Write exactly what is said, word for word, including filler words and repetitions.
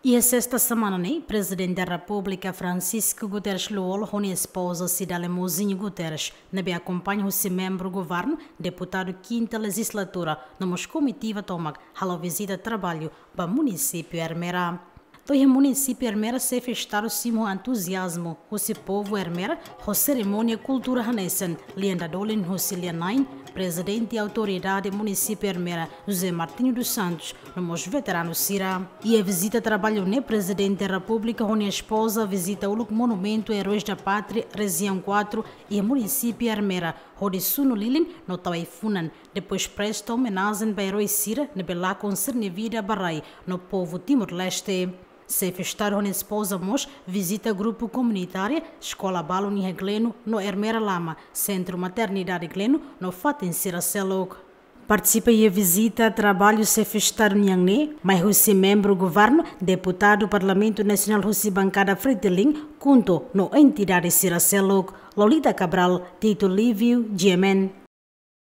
Iha sesta semana ne'e, Prezidente Repúblika Francisco Guterres Lú-Olo ho nia espoza Cidália Mozinho Guterres, ne'ebé akompaña husi membru governu, deputadu kinta lejizlatura, no mós komitiva tomak, halo vizita traballu ba munisípiu Ermera. To'o iha munisípiu Ermera, xefe Estadu simu ho entuziazmu husi povu Ermera ho serimónia kultura hanesan lian dadolin husi lian-na'in Prezidente Autoridade Munisípiu Ermera, José Martinho dos Santos, no mós veteranu sira. Iha vizita traballu ne'e, Prezidente Repúblika ho nia espoza vizita uluk Monumentu Heróis da Pátria, Rejiaun quatro, iha munisípiu Ermera, hodi sunu lilin no tau ai-funan, depois presta omenajen ba erói sira ne'ebé lakon sira-nia vida ba rai no povu Timor-Leste. Xefe Estadu ho nia espoza mós vizita grupu komunitáriu, eskola balun iha Gleno no Ermera Lama, Sentru Maternidade Gleno no fatin sira seluk. Partisipa iha vizita traballu xefe Estadu nian ne'e mai husi membru governu, deputadu Parlamentu Nasionál husi bankada Fretilin, KHUNTO no entidade sira seluk. Lolita Cabral, Tito Lívio, G M N.